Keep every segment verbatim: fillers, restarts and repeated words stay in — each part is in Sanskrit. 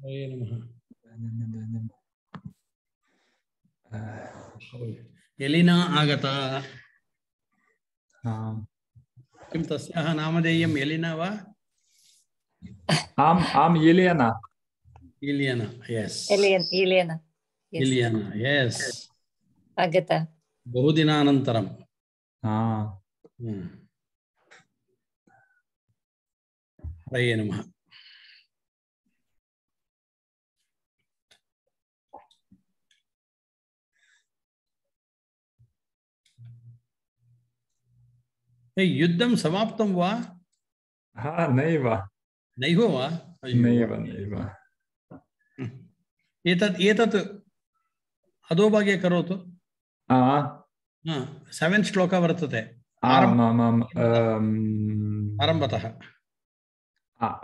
हरे नमः। एलिना आगता। किं तस्याः नामधेयम् एलिना वा? आम् आम् एलियना. इलियना, यस्। एलियन इलियना इलियना, यस्। आगता बहुदिनानन्तरं। हरे नमः। युद्धं समाप्तं वा? हा नैव नैव वा? नैव नैव। एतत् एतत् अधोभागे करोतु। सेवेन् श्लोक वर्तते आरम्भतः।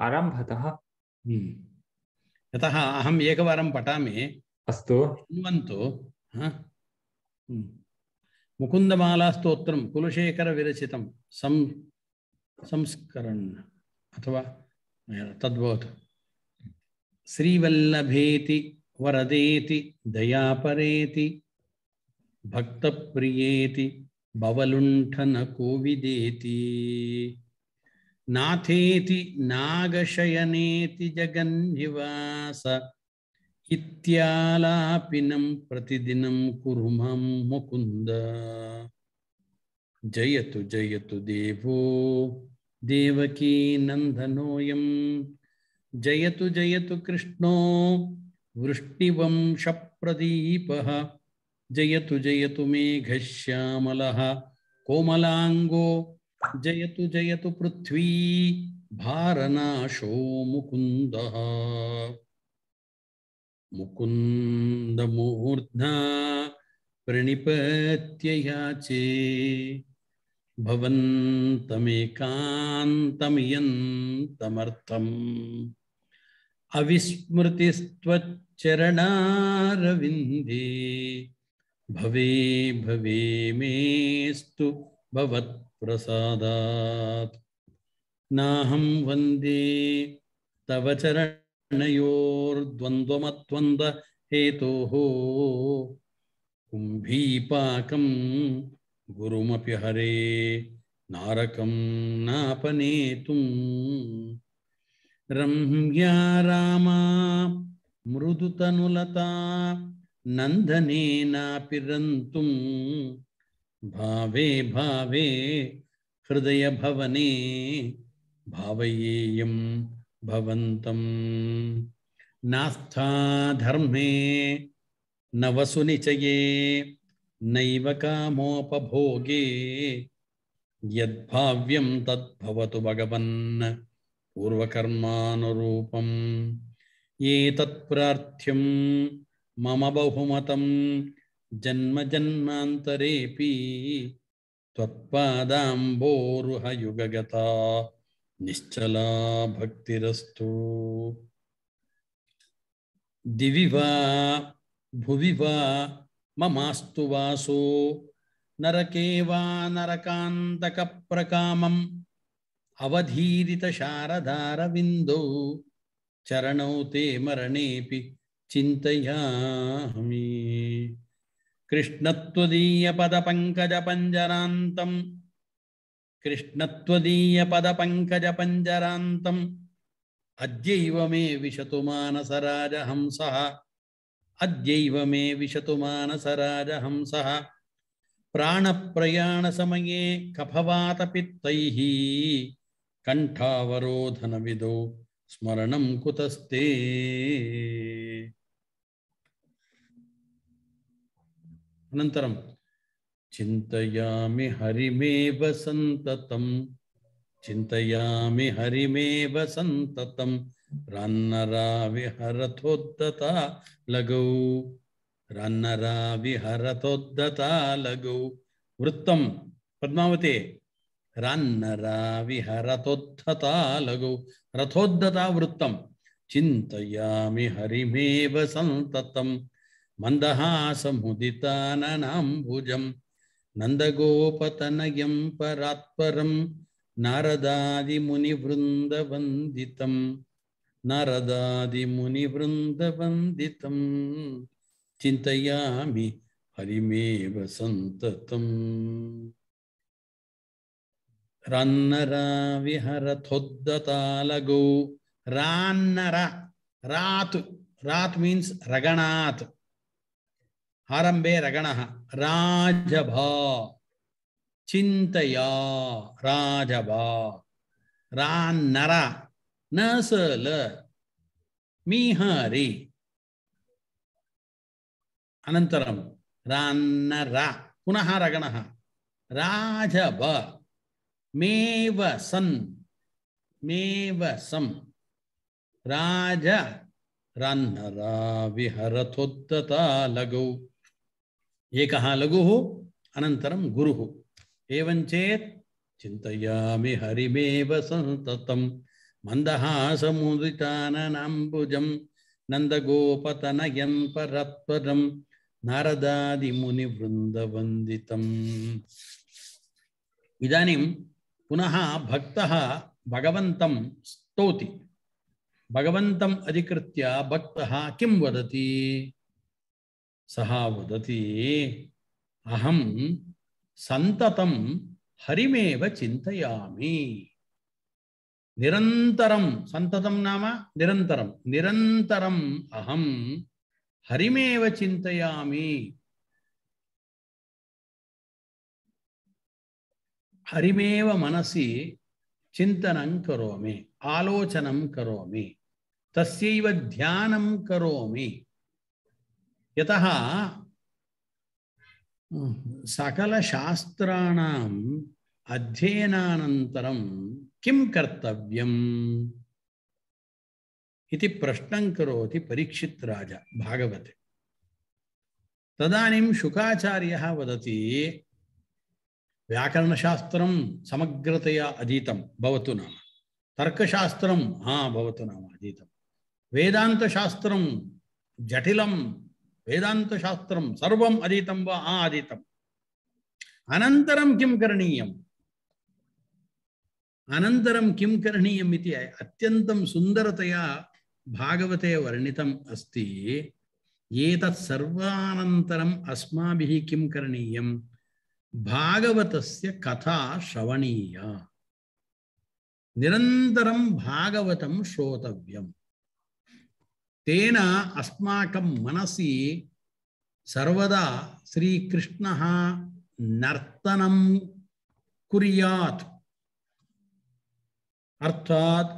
आरम्भतः यतः अहम् एकवारं पठामि। अस्तु शृण्वन्तु। मुकुन्दमालास्तोत्रं कुलशेखरविरचितं सं संस्करन् अथवा तद्भवतु। श्रीवल्लभेति वरदेति दयापरेति भक्तप्रियेति भवलुण्ठनकोविदेति नाथेति नागशयनेति जगन्निवास इत्यालापिनं प्रतिदिनं कुरु मां मुकुन्द। जयतु जयतु देवो देवकी नन्दनोऽयं जयतु जयतु कृष्णो वृष्टिवंशप्रदीपः जयतु जयतु मेघश्यामलः कोमलाङ्गो जयतु जयतु पृथ्वी भारनाशो मुकुन्दः। मुकुन्दमूर्ध्ना प्रणिपत्य याचे भवन्तमेकान्तमियन्तमर्थम् अविस्मृतिस्त्वच्चरणारविन्दे भवे भवे मेस्तु भवत्प्रसादात्। नाहं वन्दे तव चरणयोर्द्वन्द्वमद्वन्द्व हेतोः कुम्भीपाकं गुरुमपि हरे नारकं नापनेतुम्। रम्या रामा मृदुतनुलता नन्दनेनापि रन्तुं भावे भावे हृदयभवने भावयेयं भवन्तं। नास्था धर्मे न वसुनिचये नैव कामोपभोगे यद्भाव्यं तद्भवतु भगवन् पूर्वकर्मानुरूपम्। एतत्प्रार्थ्यं मम बहुमतं जन्म जन्मान्तरेऽपि त्वत्पादाम्भोरुहयुगगता निश्चला भक्तिरस्तु। दिवि वा भुवि वा ममास्तु वासो नरके वा नरकान्तकप्रकामम् अवधीरितशारदारविन्दौ चरणौ ते मरणेऽपि चिन्तयामि। कृष्णत्वदीयपदपङ्कजपञ्जरान्तं कृष्णत्वदीयपदपङ्कजपञ्जरान्तम् अद्यैव मे विशतु मानसराजहंसः अद्यैव मे विशतु मानसराजहंसः। प्राणप्रयाणसमये कफवातपित्तैः कण्ठावरोधनविधौ स्मरणं कुतस्ते। अनन्तरं चिन्तयामि हरिमेव सन्ततं चिन्तयामि हरिमेव सन्ततं रान्नरा विहरतोद्धता लगौ रान्नरा विहरतोद्धता लगौ। वृत्तं पद्मावती रान्नरा विहरतोद्धता लगौ रथोद्धता वृत्तं चिन्तयामि हरिमेव सन्ततं मन्दहासमुदिताननाम्बुजं नन्दगोपतनयं परात्परं नारदादिमुनिवृन्दवन्दितं नारदादिमुनिवृन्दवन्दितं चिन्तयामि हरिमेव सन्ततम् रन्नरा विहरथोद्दतालगौ रान्नरा रात् रात् means रगणात् आरंभे रगणः राजभा चिन्तया राजभा रान्नरा नसल मीहरि अनन्तरं रान्नरा पुनः रगणः राजभ मेव सन् मेव सम् राज रन्नरा विहरथोद्दता लघु एकः लघुः अनन्तरं गुरुः एवं चेत् चिन्तयामि हरिमेव सन्ततं मन्दहासमुदिताननाम्बुजं नन्दगोपतनयं परत्परं नारदादिमुनिवृन्दवन्दितम् इदानीं पुनः भक्तः भगवन्तं स्तौति भगवन्तम् अधिकृत्य भक्तः किं वदति सः वदति अहं सन्ततं हरिमेव चिन्तयामि निरन्तरं सन्ततं नाम निरन्तरं निरन्तरम् अहं हरिमेव चिन्तयामि हरिमेव मनसि चिन्तनं करोमि आलोचनं करोमि तस्यैव ध्यानं करोमि यतः सकलशास्त्राणाम् अध्ययनानन्तरं किं कर्तव्यम् इति प्रश्नं करोति परीक्षित् राजा भागवते तदानीं शुकाचार्यः वदति व्याकरणशास्त्रं समग्रतया अधीतं भवतु नाम तर्कशास्त्रं हा भवतु नाम अधीतं वेदान्तशास्त्रं जटिलं वेदान्तशास्त्रं सर्वम् अधीतं वा हा अधीतम् अनन्तरं किं करणीयम् अनन्तरं किं करणीयम् इति अत्यन्तं सुन्दरतया भागवते वर्णितम् अस्ति एतत् सर्वानन्तरम् अस्माभिः किं करणीयम् भागवतस्य कथा श्रवणीया निरन्तरं भागवतं श्रोतव्यम् तेन अस्माकं मनसि सर्वदा श्रीकृष्णः नर्तनं कुर्यात् अर्थात्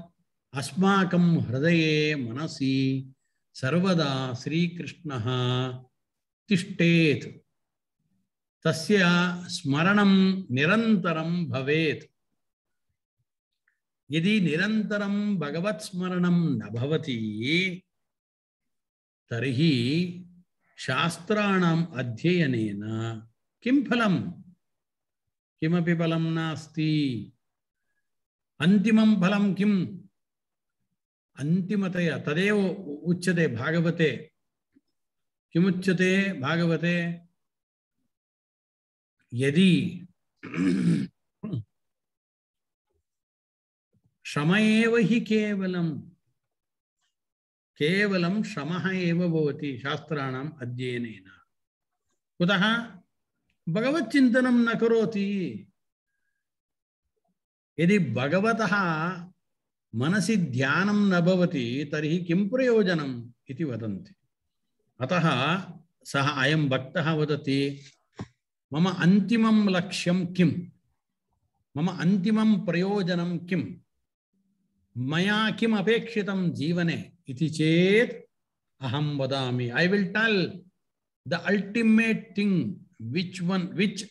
अस्माकं हृदये मनसि सर्वदा श्रीकृष्णः तिष्ठेत् तस्य स्मरणं निरन्तरं भवेत् यदि निरन्तरं भगवत् स्मरणं न भवति तर्हि शास्त्राणाम् अध्ययनेन किं फलं किमपि फलं नास्ति अन्तिमं फलं किम् अन्तिमतया तदेव उच्यते भागवते किमुच्यते भागवते यदि श्रम एव हि केवलं केवलं श्रमः एव भवति शास्त्राणाम् अध्ययनेन कुतः भगवच्चिन्तनं न करोति यदि भगवतः मनसि ध्यानं न भवति तर्हि किं प्रयोजनम् इति वदन्ति अतः सः अयं भक्तः वदति मम अन्तिमं लक्ष्यं किं मम अन्तिमं प्रयोजनं किं मया किम् अपेक्षितं जीवने इति चेत् अहं वदामि I will tell the ultimate thing which one which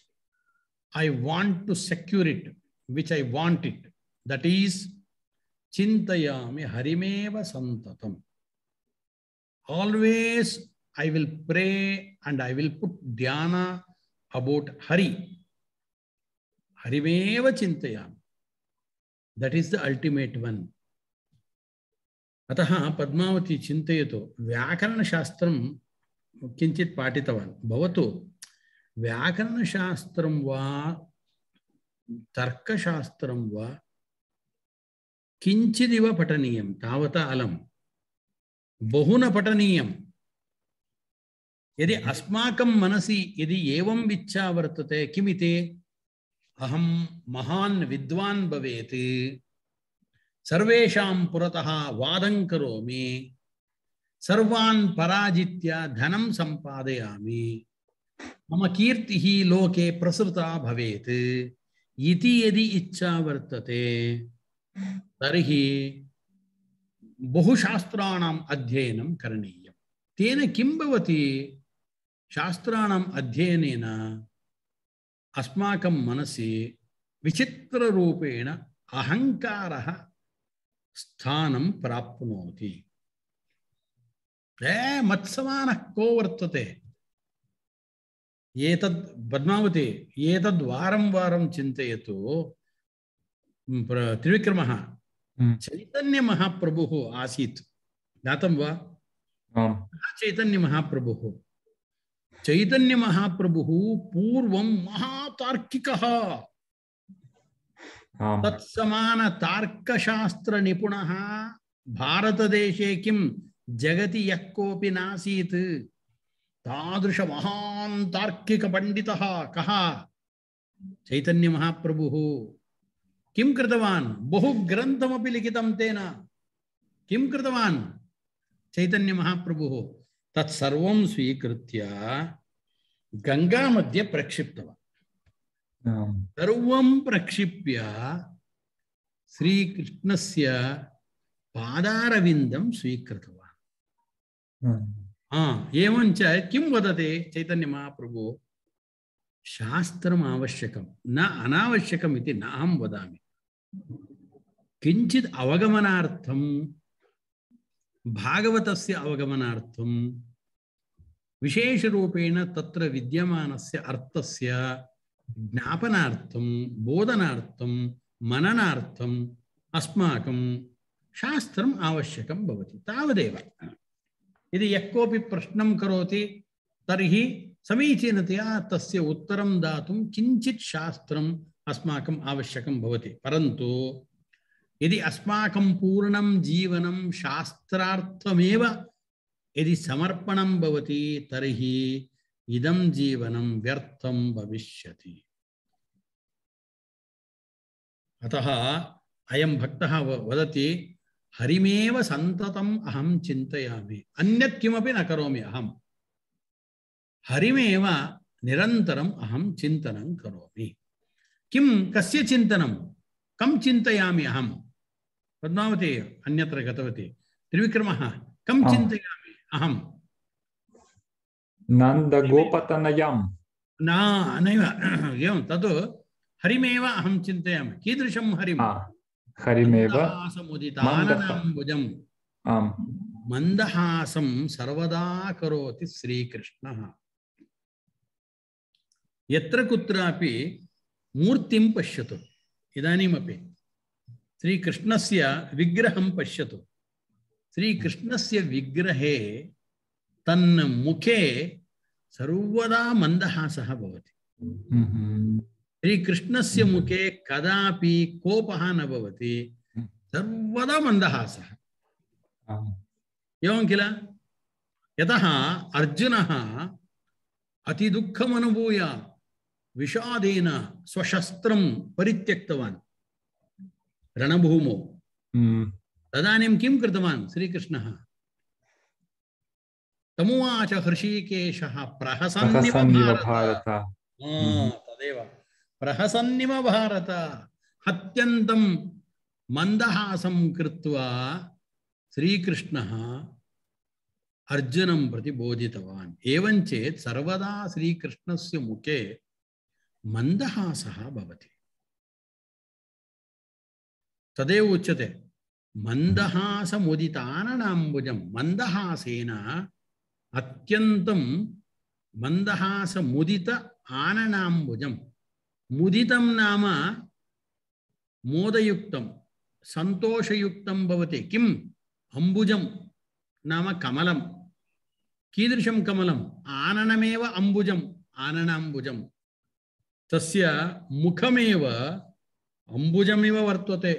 I want to secure it which I want it that is chintayami harimeva santatam always I will pray and I will put dhyana about Hari harimeva chintayami that is the ultimate one अतः पद्मावती चिन्तयतु व्याकरणशास्त्रं किञ्चित् पाठितवान् भवतु व्याकरणशास्त्रं वा तर्कशास्त्रं वा किञ्चिदिव पठनीयं तावता अलम् बहु न पठनीयं यदि अस्माकं मनसि यदि एवं इच्छा वर्तते किमिति अहं महान् विद्वान् भवेत् सर्वेषां पुरतः वादं करोमि सर्वान् पराजित्य धनं सम्पादयामि मम कीर्तिः लोके प्रसृता भवेत् इति यदि इच्छा वर्तते तर्हि बहुशास्त्राणाम् अध्ययनं करणीयं तेन किं भवति शास्त्राणाम् अध्ययनेन अस्माकं मनसि विचित्ररूपेण अहङ्कारः स्थानं प्राप्नोति ए मत्समानः को वर्तते एतद् पद्मावती एतद् वारं वारं चिन्तयतु त्रिविक्रमः चैतन्य महाप्रभुः आसीत् ज्ञातं वा चैतन्य महाप्रभुः चैतन्य महाप्रभुः पूर्वं महातार्किकः तत्समान तार्कशास्त्र निपुणः भारतदेशे किं जगति यः कोऽपि नासीत् तादृश महान् तार्किक पंडितः कः चैतन्य महाप्रभुः किं कृतवान् बहु ग्रन्थमपि लिखितं तेन किं कृतवान् चैतन्य महाप्रभुः तत्सर्वं स्वीकृत्य गंगा मध्ये प्रक्षिप्तवान् सर्वं प्रक्षिप्य श्रीकृष्णस्य पादारविन्दं स्वीकृतवान् हाँ एवञ्च किं वदति चैतन्य महाप्रभु शास्त्रम् आवश्यकं न अनावश्यकम् इति न अहं वदामि किञ्चित् अवगमनार्थं भागवतस्य अवगमनार्थं विशेषरूपेण तत्र विद्यमानस्य अर्थस्य ज्ञापनार्थं बोधनार्थं मननार्थम् अस्माकं शास्त्रम् आवश्यकं भवति तावदेव यदि यः कोऽपि प्रश्नं करोति तर्हि समीचीनतया तस्य उत्तरं दातुं किञ्चित् शास्त्रम् अस्माकम् आवश्यकं भवति परन्तु यदि अस्माकं पूर्णं जीवनं शास्त्रार्थमेव यदि समर्पणं भवति तर्हि इदं जीवनं व्यर्थं भविष्यति अतः अयं भक्तः वदति हरिमेव संततम् अहं चिन्तयामि अन्यत् किमपि न करोमि अहं हरिमेव निरन्तरम् अहं चिन्तनं करोमि किं कस्य चिन्तनं कं चिन्तयामि अहं पद्मावती अन्यत्र गतवती त्रिविक्रमः कं चिन्तयामि अहं नन्दगोपतनयं न नैव एवं तद् हरिमेव अहं चिन्तयामि कीदृशं हरिं हरिमेव मन्दहासमुदिताननाम्बुजं मन्दहासं सर्वदा करोति श्रीकृष्णः यत्र कुत्रापि मूर्तिं पश्यतु इदानीमपि श्रीकृष्णस्य विग्रहं पश्यतु श्रीकृष्णस्य विग्रहे तन्मुखे सर्वदा मन्दहासः भवति श्रीकृष्णस्य मुखे कदापि कोपः न भवति सर्वदा मन्दहासः एवं किल यतः अर्जुनः अतिदुःखम् अनुभूय विषादेन स्वशस्त्रं परित्यक्तवान् रणभूमौ तदानीं किं कृतवान् श्रीकृष्णः तमुवाच हृषीकेशः प्रहसन्निव भारत तदेव प्रहसन्निव भारत अत्यन्तं मन्दहासं कृत्वा श्रीकृष्णः अर्जुनं प्रति बोधितवान् एवं चेत् सर्वदा श्रीकृष्णस्य मुखे मन्दहासः भवति तदेव उच्यते मन्दहासमुदिताननाम्बुजं मन्दहासेन अत्यन्तं मन्दहासमुदित आननाम्बुजं मुदितं नाम मोदयुक्तं सन्तोषयुक्तं भवति किम् अम्बुजं नाम कमलं कीदृशं कमलम् आननमेव अम्बुजम् आननाम्बुजं तस्य मुखमेव अम्बुजमिव वर्तते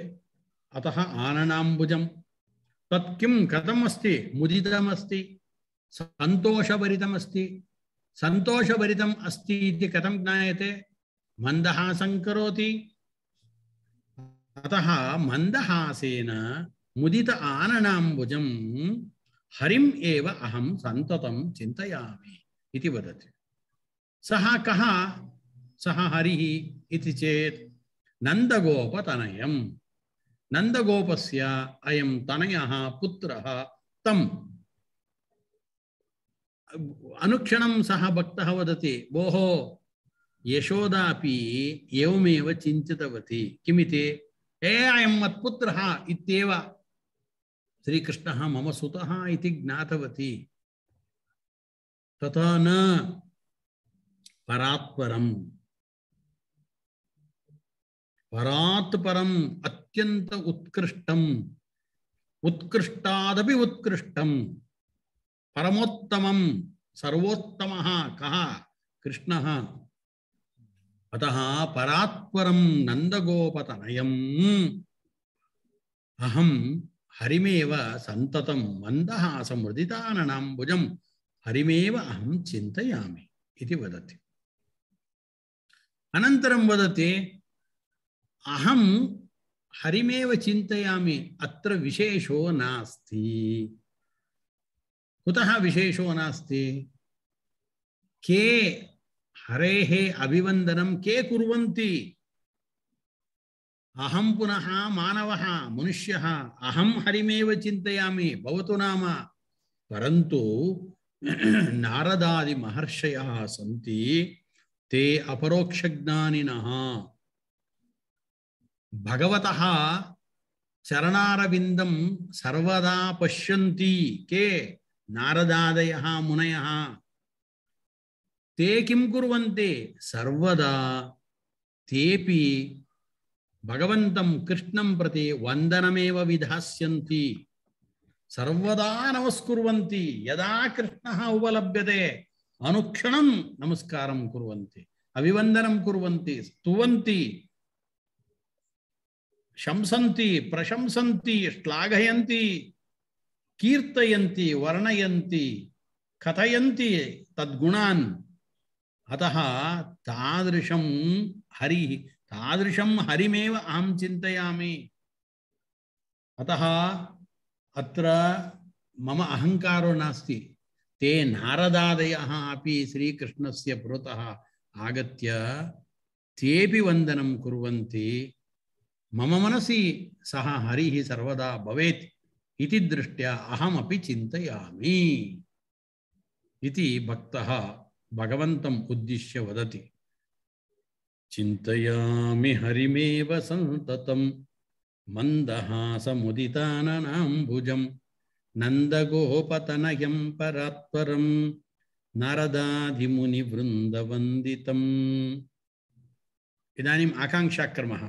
अतः आननाम्बुजं तत् किं कथम् अस्ति मुदितमस्ति सन्तोषभरितमस्ति सन्तोषभरितम् अस्ति इति कथं ज्ञायते मन्दहासं करोति अतः मन्दहासेन मुदित आननाम्बुजं हरिम् एव अहं सन्ततं चिन्तयामि इति वदति सः कः सः हरिः इति चेत् नन्दगोपतनयं नन्दगोपस्य अयं तनयः पुत्रः तम् अनुक्षणं सः भक्तः वदति भोः यशोदापि एवमेव चिन्तितवती किमिति ए अयं मत्पुत्रः इत्येव श्रीकृष्णः मम सुतः इति ज्ञातवती तथा न परात्परम् परात् परम् अत्यंत उत्कृष्टम् उत्कृष्टादपि उत्कृष्टम् परमोत्तमं सर्वोत्तमः कः कृष्णः अतः परात्परं नन्दगोपतनयम् अहं हरिमेव सन्ततं मन्दहासमुदिताननाम्बुजं हरिमेव अहं चिन्तयामि इति वदति अनन्तरं वदति अहं हरिमेव चिन्तयामि अत्र विशेषो नास्ति कुतः विशेषो नास्ति के हरेः अभिवन्दनं के कुर्वन्ति अहं पुनः मानवः मनुष्यः अहं हरिमेव चिन्तयामि भवतु नाम परन्तु नारदादि महर्षयः सन्ति ते अपरोक्षज्ञानिनः भगवतः चरणारविन्दं सर्वदा पश्यन्ति के नारदादयः मुनयः ते किं कुर्वन्ति सर्वदा तेपि भगवन्तं कृष्णं प्रति वन्दनमेव विधास्यन्ति सर्वदा नमस्कुर्वन्ति यदा कृष्णः उपलभ्यते अनुक्षणं नमस्कारं कुर्वन्ति अभिवन्दनं कुर्वन्ति स्तुवन्ति शंसन्ति प्रशंसन्ति श्लाघयन्ति कीर्तयन्ति वर्णयन्ति कथयन्ति तद्गुणान् अतः तादृशं हरि तादृशं हरिमेव अहं चिन्तयामि अतः अत्र मम अहंकारो नास्ति ते नारदादयः अपि श्रीकृष्णस्य पुरतः आगत्य तेपि वन्दनं कुर्वन्ति मम मनसि सः हरिः सर्वदा भवेत् इति दृष्ट्या अहमपि चिन्तयामि इति भक्तः भगवन्तम् उद्दिश्य वदति चिन्तयामि हरिमेव सन्ततं मन्दहासमुदिताननाम्बुजं नन्दगोपतनयं परात्परं नारदादिमुनिवृन्दवन्दितम् इदानीम् आकाङ्क्षाक्रमः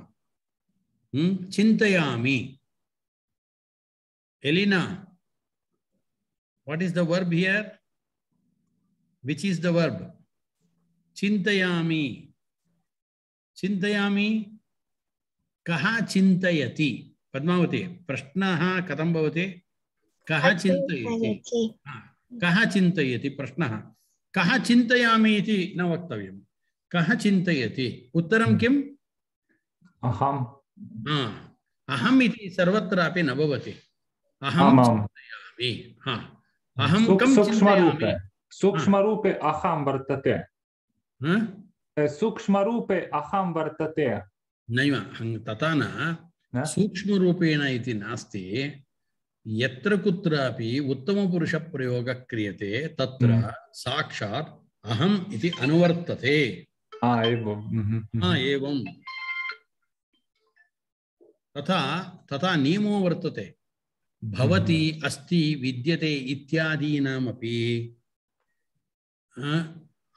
चिन्तयामि Elena, what is the verb here? Which is the verb? Chintayami. Chintayami. Kaha chintayati. Padmavati. Prashnaha katam bhavati. Kaha chintayati. Kaha chintayati. Prashnaha. Kaha chintayami iti na vaktavyam. Kaha chintayati. Uttaram kim? Aham. Aham iti sarvatrapi na bhavati. अहम चिन्तयामि हाँ अहम कम सूक्ष्मरूपे सूक्ष्मरूपे अहम वर्तते सूक्ष्मरूपे अहम वर्तते नैव तथा न सूक्ष्मरूपेण इति नास्ति यत्र कुत्रापि उत्तमपुरुषप्रयोगः क्रियते तत्र साक्षात् अहम इति अनुवर्तते हाँ एवं हाँ एवं तथा तथा नियमो वर्तते भवति अस्ति विद्यते इत्यादीनामपि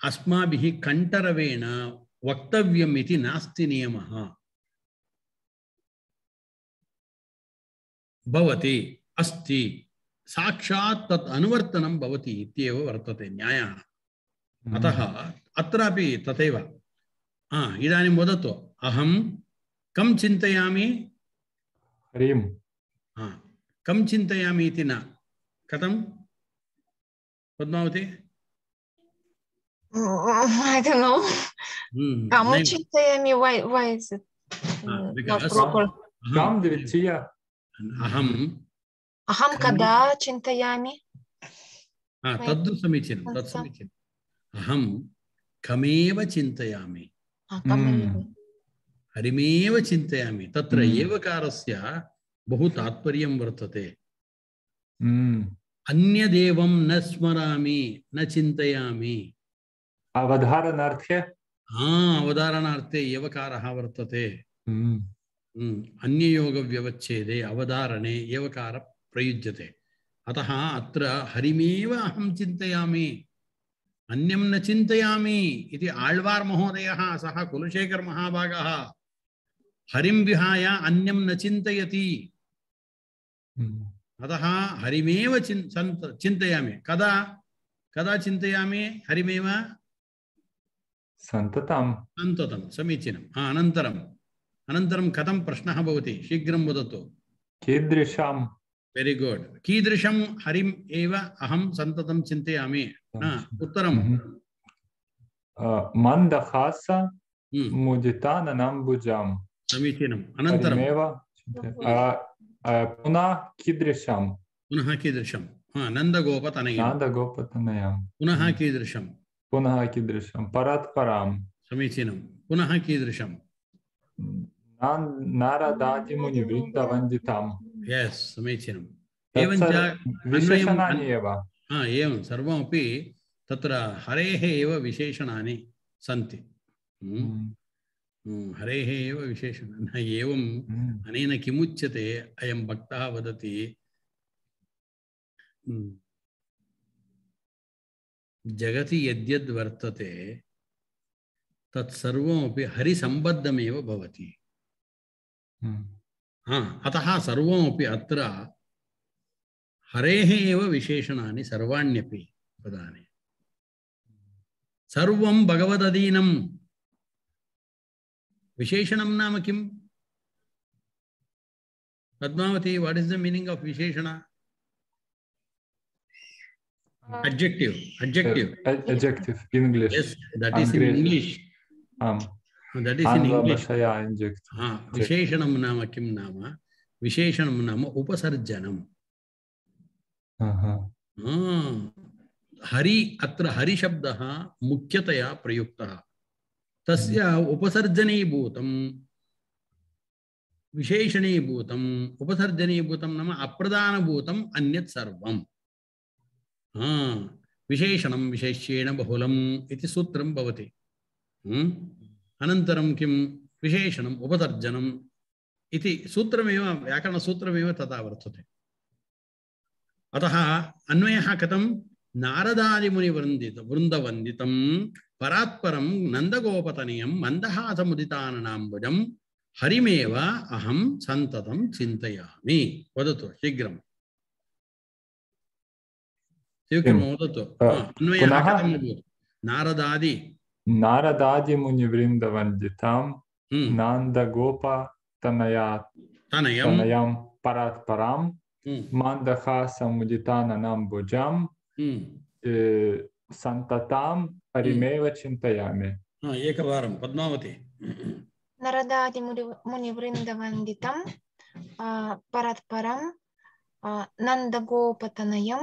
अस्माभिः कण्ठरवेण वक्तव्यम् इति नास्ति नियमः भवति अस्ति साक्षात् तत् अनुवर्तनं भवति इत्येव वर्तते न्यायः अतः अत्रापि तथैव इदानीं वदतु अहं कं चिन्तयामि हरिम हाँ कम चिंतयामि इति न कथम Padmavati I don't know. Hmm Kamu नहीं चिंतयामि, why why is it हाँ mm, not because proper? काम द्वितीय अहम Aham kada चिंतयामि. हाँ Right. तद् समीचीनं तत् Understand? समीचीनम् अहं कमेव चिन्तयामि Ah, kami. हरिमेव चिन्तयामि तत्र हम्म। एवकारस्य बहु तात्पर्यं वर्तते हम्म अन्यदेवं न स्मरामि न चिन्तयामि अवधारणार्थे हाँ अवधारणार्थे एवकारः वर्तते हम्म हम्म, अन्ययोगव्यवच्छेदे अवधारणे एवकार प्रयुज्यते अतः अत्र हरिमेव अहं चिन्तयामि अन्यं न चिन्तयामि इति आಳ್वार् महोदयः सः कुलशेखर महाभागः हरिं विहाय अन्यं न चिन्तयति अतः हरिमेव चिन् चिन्तयामि कदा कदा चिन्तयामि हरिमेव सन्ततं सन्ततं समीचीनम् अनन्तरम् अनन्तरं कथं प्रश्नः भवति शीघ्रं वदतु कीदृशं वेरी गुड कीदृशं हरिम् एव अहं सन्ततं चिन्तयामि उत्तरं मन्दहास मुदिताननाम्बुजां समीचीनम् अनन्तरं हरिमेव पुनः कीदृशं पुनः कीदृशं हा नन्दगोपतनयं नन्दगोपतनयं पुनः कीदृशं पुनः कीदृशं परात्परां समीचीनं पुनः कीदृशं नारदादिमुनिवृन्दवन्दितां यस् समीचीनम् एवञ्च एवञ्च विशेषणानि एव हा एवं सर्वमपि तत्र हरेः एव विशेषणानि सन्ति हरेः एव विशेषणानि एवम् अनेन किमुच्यते अयं भक्तः वदति जगति यद्यद् वर्तते तत्सर्वमपि हरिसम्बद्धमेव भवति हा अतः सर्वमपि अत्र हरेः एव विशेषणानि सर्वाण्यपि पदानि सर्वं भगवदधीनं विशेषणं नाम किम् Padmavati what is the meaning of विशेषण adjective adjective adjective in English yes that is in English um that is in English adjective ha visheshanam nama kim nama visheshanam nama upasarjanam aha hari atra hari shabdah mukyataya prayuktah tasya upasarjanibhutam विशेषणीभूतम उपसर्जनीभूतम नाम अप्रधानभूतम अन्यत् सर्वम् हाँ विशेषणं विशेष्येण बहुलम् इति सूत्रं भवति अनन्तरं किं विशेषणम् उपसर्जनम् इति सूत्रमेव व्याकरणसूत्रमेव तथा वर्तते अतः अन्वयः कथं नारदादिमुनिवृन्दित वृन्दवन्दितं परात्परं नन्दगोपतनयं मन्दहासमुदिताननाम्बुजं हरिमेव अहं सन्ततं चिन्तयामि वदतु शीघ्रम् नारदादि नारदादिमुनिवृन्दवन्दितां नन्दगोपतनयां परात्परां मन्दहासमुदिताननाम्बुजां सन्ततां हरिमेव चिन्तयामि एकवारं पद्मावती नारदादिमुनिवृन्दवन्दितं परात्परं नन्दगोपतनयं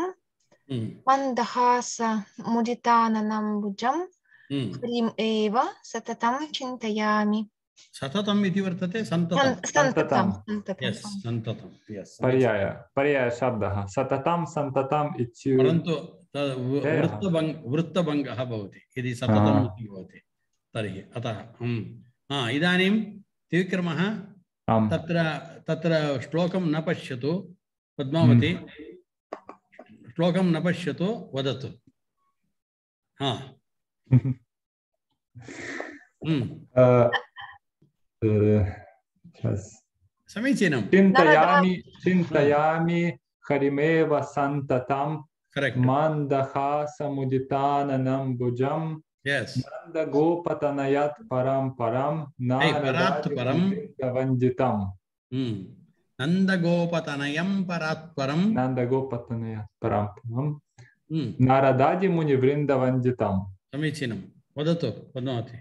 मन्दहासमुदिताननाम्बुजं हरिम् एव सततं चिन्तयामि सततम् इति वर्तते सन्ततं सन्ततं यस् सन्ततं यस् पर्याय पर्याय शब्दः सततं सन्ततम् इति परन्तु वृत्तभङ्ग वृत्तभङ्गः भवति यदि सततम् इति भवति तर्हि अतः हा इदानीं त्रिविक्रमः तत्र तत्र श्लोकं न पश्यतु पद्मावती श्लोकं न पश्यतु वदतु हा समीचीनं चिन्तयामि चिन्तयामि हरिमेव सन्ततं मन्दहासमुदिताननाम्बुजं नन्दगोपतनयात् परं परं नारदादिमुनिवृन्दवन्दितं नन्दगोपतनयं परात्परं नन्दगोपतनयं परात्परं नारदादिमुनिवृन्दवन्दितं समीचीनं वदतु पद्मावती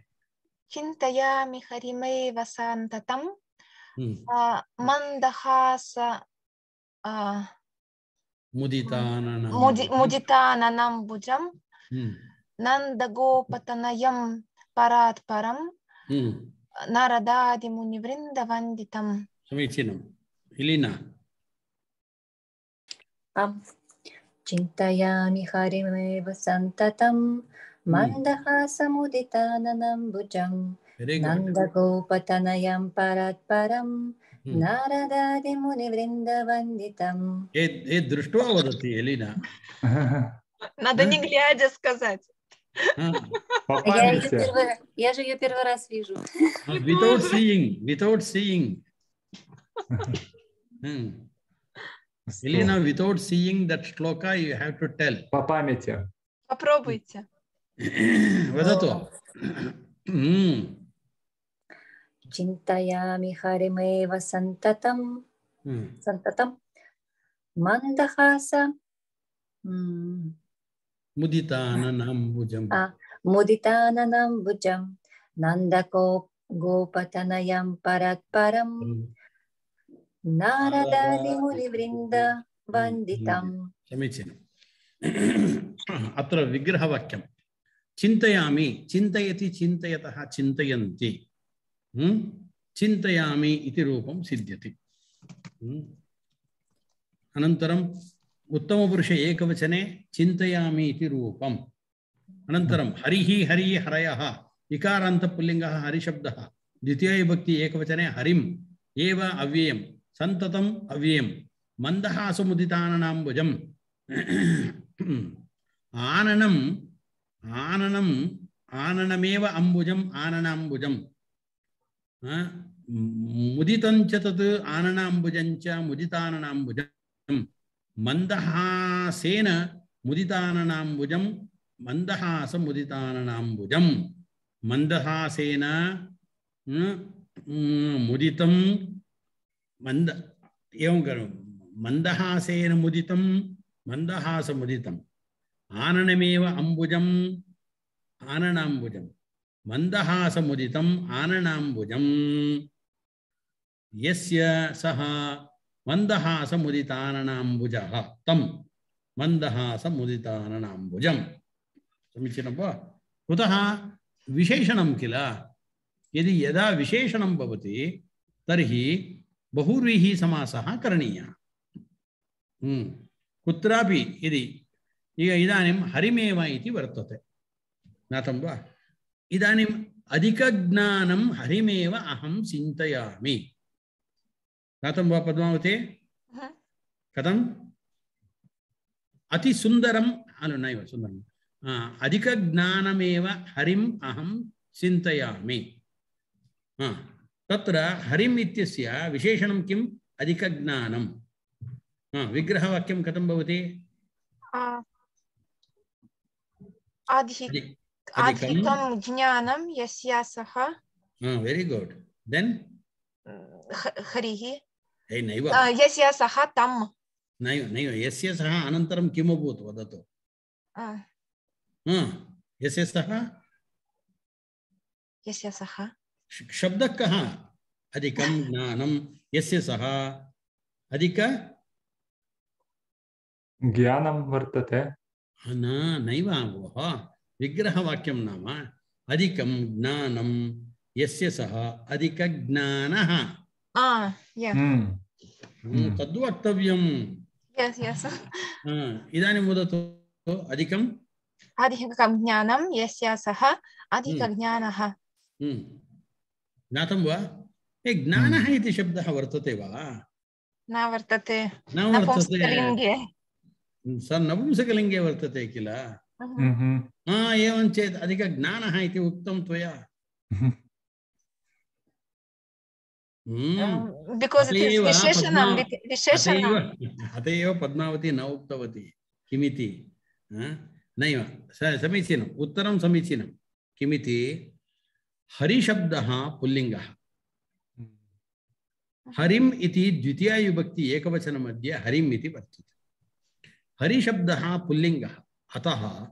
चिन्तयामि हरिमेव सन्ततं मन्दहास मुदिताननं मुदिताननम्बुजं नन्दगोपतनयं परात्परं नारदादिमुनिवृन्दवन्दितं समीचीनम् इलिना आम् चिन्तयामि हरिमेव सन्ततं मन्दहासमुदिताननम्बुजं नन्दगोपतनयं परात्परं नारदादिमुनिवृन्दवन्दितं. ये दृष्ट्वा वदति Elina. Надо не глядя сказать. Я ее первый, я же ее первый раз вижу. Without seeing, without seeing. hmm. Elena, without seeing that shloka, you have to tell. По памяти. Попробуйте. Вадату. Чинтаями харимева сантатам. Сантатам. Мандахаса. Muditananambujam. Ah, Muditananambujam. Nandako Gopatanayam Paratparam. Naradadi Munivrinda Vanditam. Samichinam. Atra vigrahavakyam. Chintayami. Chintayati chintayataha chintayanti. Chintayami iti rupam siddhyati. Anantaram Uttama Purusha ekavachane chintayami iti rupam. Anantaram harihi harihi harayaha ikaranta pullingaha harishabdaha dvitiya bhakti ekavachane harim eva avyayam santatam avyayam mandahasa muditananambujam ananam ananam ananameva ambujam ananambujam muditancha tat ananambujancha muditananambujam mandahasena muditananambujam mandahasa muditananambujam mandahasena muditam manda evam karu mandahasena muditam mandahasa muditam ananameva ambujam ananambujam mandahasa muditam ananambujam yasya saha mandahasa muditananambujaha tam mandahasa muditananambujam. Samichinam va kutaha visheshanam kila yadi yada visheshanam bhavati tarhi bahurvihi samasaha karaniya hmm kutrapi yadi iga idanim harimeva iti vartate natam va idanim adhika gnanam harimeva aham chintayami natam va Padmavati katam ati sundaram anu naiva sundaram adhika gnanameva harim aham chintayami tatra harim ityasya visheshanam kim adhika gnanam vigraha vakyam katam bhavati adhikam gnanam yasya saha very good then harihi hey naiva yasya saha tam naiva naiva yasya saha anantaram kim abhut vadatu हाँ यस्य सह यस्य सह शब्द कहाँ अधिकम ज्ञानम यस्य सह अधिक ज्ञानम वर्तते न नैव भोः विग्रहवाक्यं नाम अधिकम ज्ञानम यस्य सह अधिक ज्ञानः तद्वक्तव्यम् इदानीं वदतु अधिकम अधिकं ज्ञानं यस्य सः अधिकज्ञानः ज्ञातं वा ए ज्ञानः इति शब्दः वर्तते वा न वर्तते न वर्तते नपुंसकलिङ्गे सः नपुंसकलिङ्गे वर्तते किल हा एवं चेत् अधिकज्ञानः इति उक्तं त्वया because it is विशेषणं विशेषणं अत एव पद्मावती न उक्तवती किमिति नैव समीचीनम् उत्तरं समीचीनं किमिति हरिशब्दः पुल्लिङ्गः हरिम् इति द्वितीया विभक्ति एकवचनमध्ये हरिम् इति वर्तते। हरिशब्दः पुल्लिङ्गः, अतः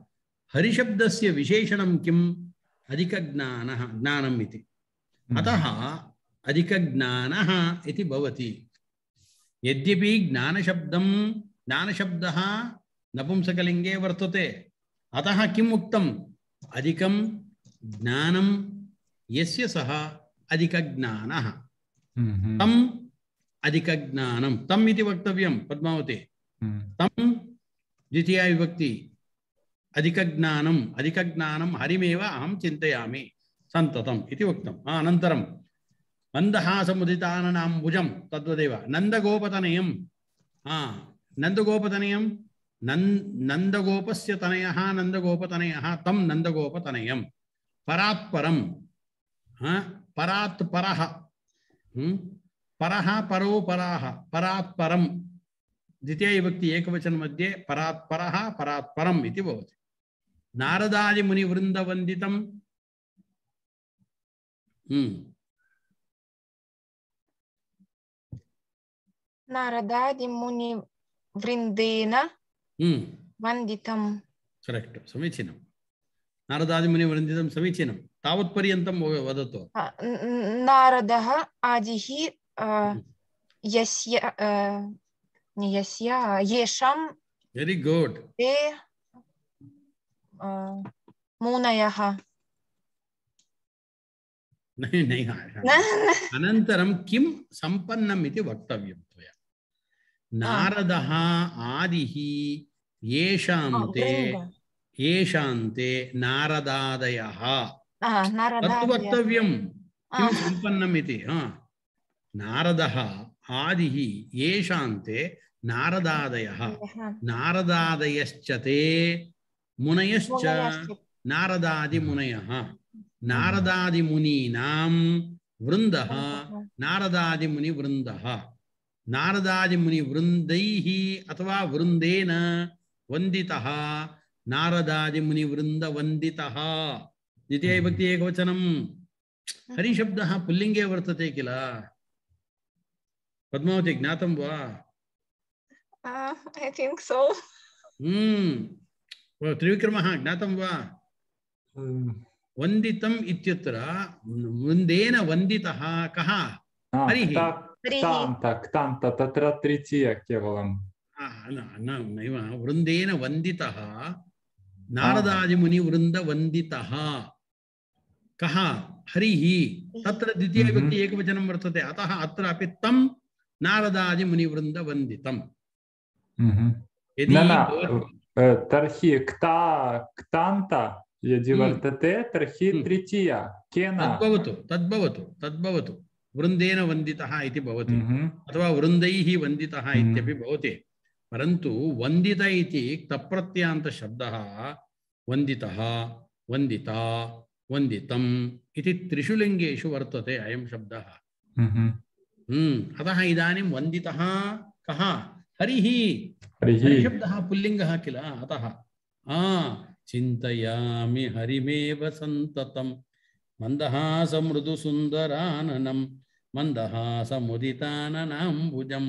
हरिशब्दस्य विशेषणं किम्? अधिकज्ञानः, ज्ञानम् इति। अतः अधिकज्ञानः इति भवति। यद्यपि ज्ञानशब्दं ज्ञानशब्दः नपुंसकलिङ्गे वर्तते, अतः किम् उक्तम्? अधिकं ज्ञानं यस्य सः अधिकज्ञानः, तम् अधिकज्ञानं, तम् इति वक्तव्यं पद्मावती। तम् द्वितीया विभक्ति अधिकज्ञानम्, अधिकज्ञानं हरिमेव अहं चिन्तयामि सन्ततम् इति उक्तम्। अनन्तरं मन्दहासमुदिताननां भुजं, तद्वदेव नन्दगोपतनयं। नन्दगोपतनयं, नन्दगोपस्य तनयः नन्दगोपतनयः, तं नन्दगोपतनयं। परात्परं, परात् परः, परः परो पराः, परात्परं द्वितीया विभक्ति एकवचन मध्ये परात्परः परात्परम् इति भवति। नारदादि मुनिवृन्दवन्दितं, नारदादि मुनिवृन्देन वन्दितं। करेक्ट, समीचीनं। नारदादि मुनिवृन्दितं समीचीनं। तावत्पर्यन्तं वदतु। नारदः आदिः यस्य यस्य येषां, वेरी गुड, ते मुनयः। नहीं नहीं, अनन्तरं किं सम्पन्नम् इति वक्तव्यं त्वया। नारदः आदिः येषान्ते येषान्ते नारदादयः, तत्तु वक्तव्यं किं सम्पन्नम् इति। नारदः आदिः येषान्ते नारदादयः, नारदादयश्च ते मुनयश्च नारदादिमुनयः, नारदादिमुनीनां वृन्दः नारदादिमुनिवृन्दः, नारदादिमुनिवृन्दैः अथवा वृन्देन वन्दितः नारदादिमुनिवृन्दवन्दितः। द्वितीया विभक्ति एकवचनं। हरिशब्दः पुल्लिङ्गे वर्तते किल? पद्मावती, ज्ञातं वा? I think so. हम्म, त्रिविक्रमः ज्ञातं वा? वन्दितम् इत्यत्र वृन्देन वन्दितः कः? हरिः। क्तान्त, तत्र तृतीया केवलं। नैव, वृन्देन वन्दितः नारदादिमुनिवृन्दवन्दितः कः? हरिः। तत्र द्वितीया विभक्ति एकवचनं वर्तते, अतः अत्र अपि तं नारदादिमुनिवृन्दवन्दितम्। तर्हि क्ता क्तान्त यदि वर्तते तर्हि तृतीया केन? तद्भवतु तद्भवतु तद्भवतु वृन्देन वन्दितः इति भवति, अथवा वृन्दैः वन्दितः इत्यपि भवति। परन्तु वन्दित इति क्तप्रत्ययान्तशब्दः वन्दितः, वन्दिता, वन्दितम् इति त्रिषु लिङ्गेषु वर्तते अयं शब्दः। अतः इदानीं वन्दितः कः? हरिः। हरिशब्दः पुल्लिङ्गः किल? अतः चिन्तयामि हरिमेव सन्ततं मन्दहासमृदुसुन्दराननं मन्दहासमुदिताननाम्बुजं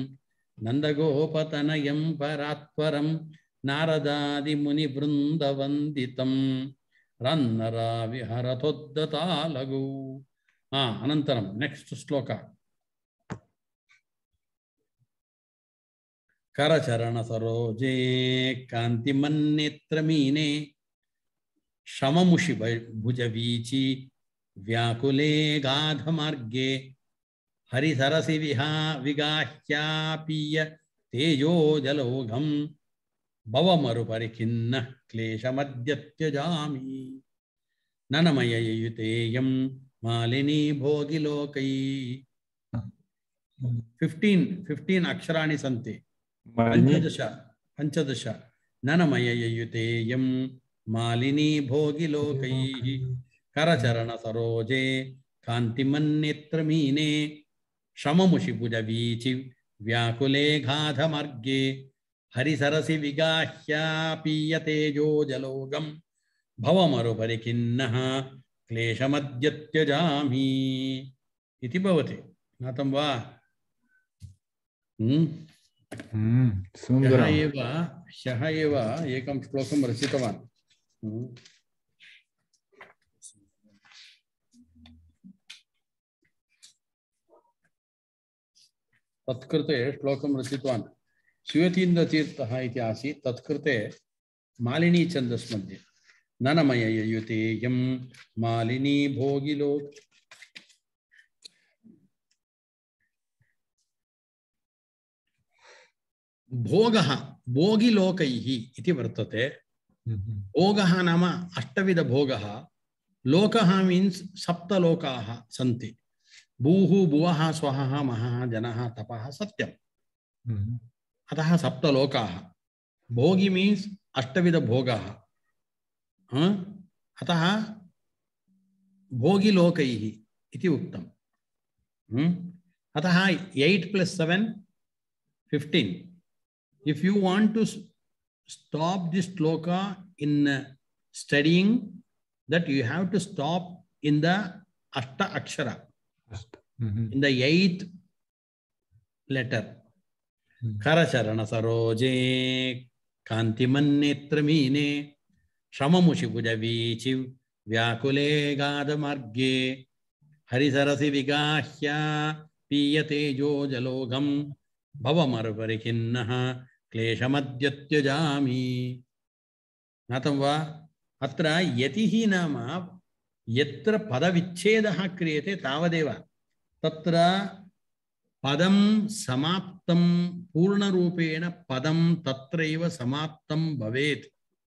नन्दगोपतनयं परात्परं नारदादिमुनिवृन्दवन्दितं रन्नरा विहरतोद्दतालगौ। अनन्तरं नेक्स्ट् श्लोक। करचरणसरोजे कान्तिमन्नेत्रमीने शममुषि भुजवीचि व्याकुले गाधमार्गे हरिसरसि विहा विगाह्यापीय तेजोजलोघं भवमरुपरिखिन्नः क्लेशमद्य त्यजामि ननमययुतेयं मालिनी भोगिलोकै। फिफ्टीन् फिफ्टीन् अक्षराणि सन्ति, पंचदश पंचदश। ननमययुतेयं मालिनी भोगिलोकैः करचरणसरोजे कान्तिमन्नेत्रमीने शममुषिभुजवीचि व्याकुले गाधमार्गे हरिसरसि विगाह्यापीयतेजोजलोगं भवमरुपरिखिन्नः क्लेशमद्य त्यजामि इति भवति। ज्ञातं वा? हम्म हम्म ह्यः सुन्दरम् एव ह्यः एव एकं श्लोकं रचितवान् हम्म तत्कृते श्लोकं रचितवान् श्वेतीन्द्रतीर्थः इति आसीत् तत्कृते मालिनी छन्दस् मध्ये ननमययुतेयं मालिनी भोगिलोक भोगः भोगिलोकैः इति वर्तते भोगः नाम अष्टविधभोगः लोकः मीन्स् सप्तलोकाः सन्ति भूः भुवः स्वहः महः जनः तपः सत्यम् अतः सप्तलोकाः भोगी मीन्स् अष्टविधभोगः अतः भोगिलोकैः इति उक्तम् अतः eight plus seven fifteen if you want to stop this shloka in studying that you have to stop in the ashta akshara in the eighth letter karacharana saroje kantimanetramine shamamushi bujavichi vyakule gadamarge harisarasi vigahya piyate jo jalogam भवमरुपरिखिन्नः क्लेशमद्यत्यजामि ज्ञातं वा अत्र यतिः नाम यत्र पदविच्छेदः क्रियते तावदेव तत्र पदं समाप्तं पूर्णरूपेण पदं तत्रैव समाप्तं भवेत्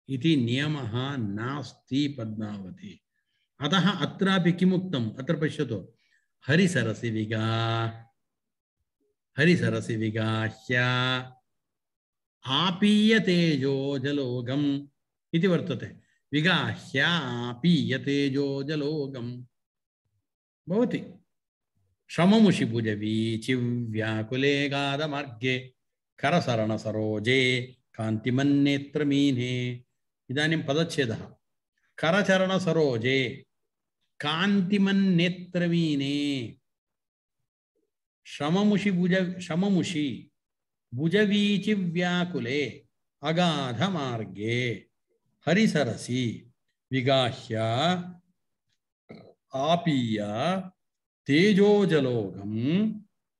इति नियमः नास्ति पद्मावती अतः अत्रापि किमुक्तम् अत्र पश्यतु हरिसरसि विगा हरिसरसि विगाह्य आपीय तेजो जलोगम इति वर्तते विगाह्य आपीय तेजो जलोगम भवति श्रममुषि भुजवीचि व्याकुले गादमार्गे करसरण सरोजे कान्तिमन्नेत्रमीने इदानीं पदच्छेदः करचरण सरोजे कान्तिमन्नेत्रमीने श्रममुषि भुज श्रममुषि भुजवीचि व्याकुले अगाध मार्गे हरिसरसि विगाह्य आपीय तेजोजलोगम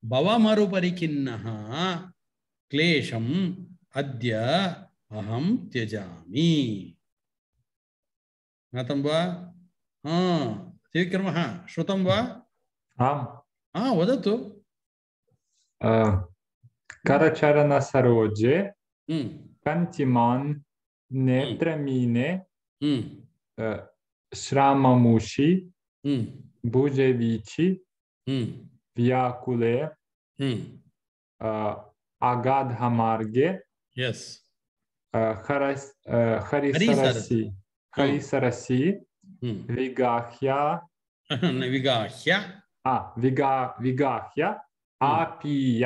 भवमरुपरिखिन्नः क्लेशम अद्य अहं त्यजामि ज्ञातं वा हाँ त्रिविक्रमः श्रुतं वा आम् हाँ वदतु करचरण सरोजे कान्तिमान् नेत्रमीने श्राममुषि भुजवीचि व्याकुले अगाधमार्गे यस हरिसरसि हरिसरसि विगाह्य विगाह्य विगा विगाह्य आपीय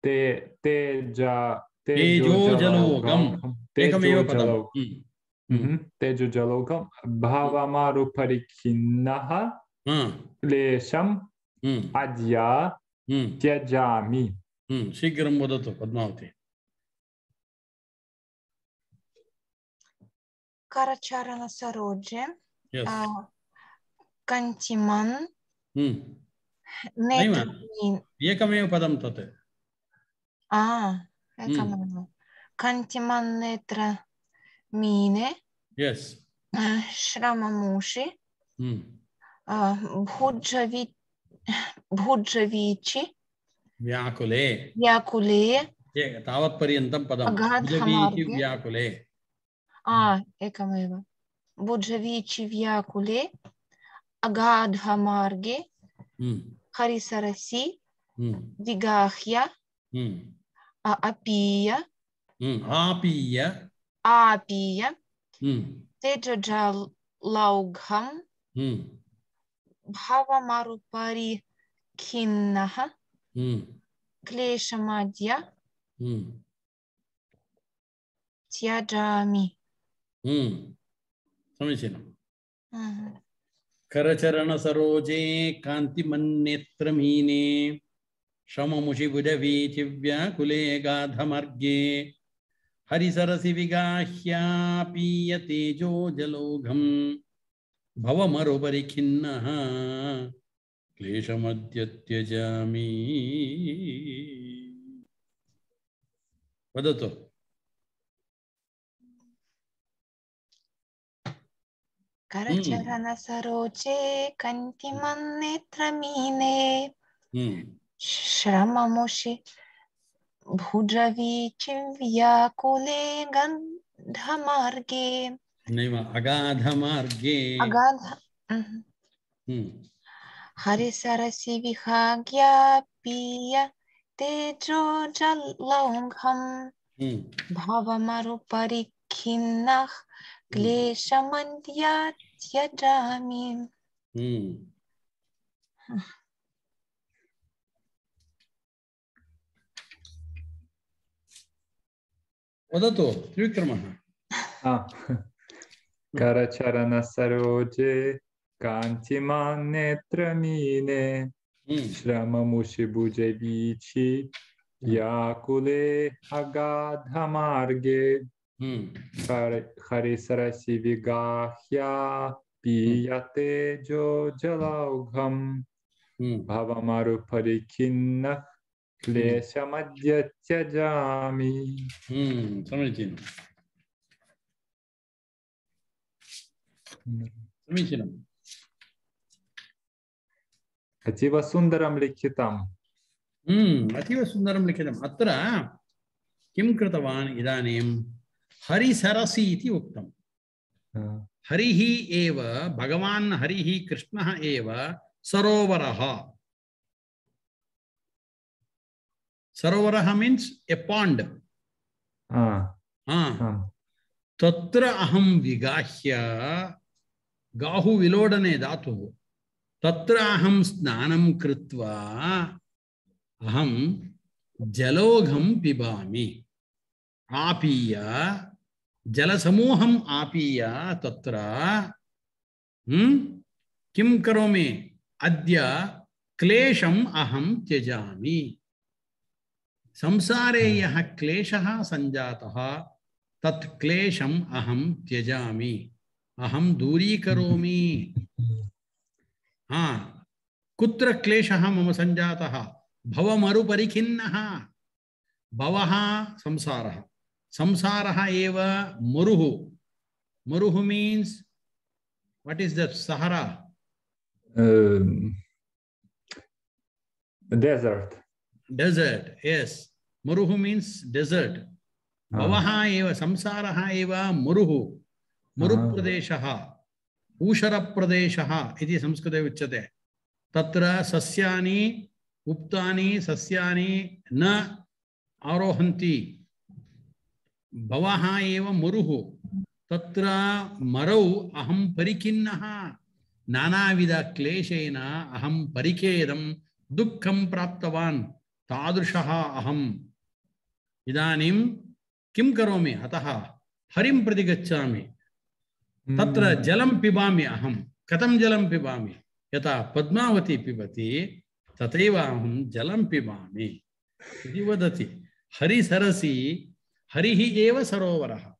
ते तेजा तेजोजलोगम एकमेव पदम् तेजोजलोगम भावमारुपरिखिन्नः क्लेशम् अद्य त्यजामि शीघ्रं वदतु पद्मावती करचरण सरोजे कान्तिमान् एकमेव पदं तत् एकमेव कान्तिमान् नेत्रमीने यस् श्रममुषि भुजवी भुजवीचि व्याकुले व्याकुले तावत्पर्यन्तं पदं भुजवीचि व्याकुले एकमेव भुजवीचि व्याकुले अगाधमार्गे हरिसरसि विगाह्य अपीय आपीय आपीय तेजोजलौघं भवमरुपरिखिन्नः क्लेशमद्य त्यजामि समीचीनं करचरण सरोजे कान्तिमन्नेत्रमीने श्रममुषिभुजवीचिव्याकुले गाधमार्गे हरिसरसि विगाह्या पीयतेजो जलौघम् भवमरुपरिखिन्नः क्लेशमद्य त्यजामि। वदतु। करचरण सरोचे कन्तिमन्नेत्रमीने श्रममुषि भुजवीचि व्याकुले गन्धमार्गे नैव अगाधमार्गे अगाध हरिसरसि विहाग्यापीय तेजो जलौघम् भवमरुपरिखिन्नः क्लेशमद्य त्यजामि। वदतु त्रिविक्रमः। करचरण सरोजे कांचिमान् नेत्रमीने श्रममुषिभुजे वीचि व्याकुले अगाधमार्गे हरिसरसि विगाह्या पीयते जो जलौघम् भवमरुपरिखिन्नः क्लेशमद्य त्यजामि। समीचीनं समीचीनम्। अतीव सुन्दरं लिखितम्। अतीव सुन्दरं लिखितम्। अत्र किं कृतवान् इदानीं हरिसरसि इति उक्तं। हरिः एव भगवान् हरिः कृष्णः एव सरोवरः। सरोवरः मीन्स् ए पाण्ड्। तत्र अहं विगाह्य गाहु विलोडने धातुः तत्र अहं स्नानं कृत्वा अहं जलौघं पिबामि। आपीय जलसमूहम् आपीय तत्र किं करोमि? अद्य क्लेशम् अहं त्यजामि। संसारे यः क्लेशः सञ्जातः तत् क्लेशम् अहं त्यजामि, अहं दूरीकरोमि। हाँ, कुत्र क्लेशः मम सञ्जातः? भवमरुपरिखिन्नः। भवः संसारः, संसारः एव मरुः। मरुः means what is that? Sahara? Um, desert. Desert, yes. Maruhu means desert. Bhavaha eva samsaraha eva muruhu. Murupradeshaha. Usharapradeshaha iti samskrite uchyate. Tatra sasyani uptani sasyani na arohanti. Bhavaha eva muruhu. Tatra marau aham parikinnaha. Nanavida kleshena aham parikedam dukkam praptavan. Tadrishaha aham. Idanim kim karomi ataha harim prati gacchami. Tatra jalam pibami aham. Katam jalam pibami. Yata Padmavati pibati tateva aham jalam pibami. Iti vadati. Hari sarasi harihi eva sarovaraha.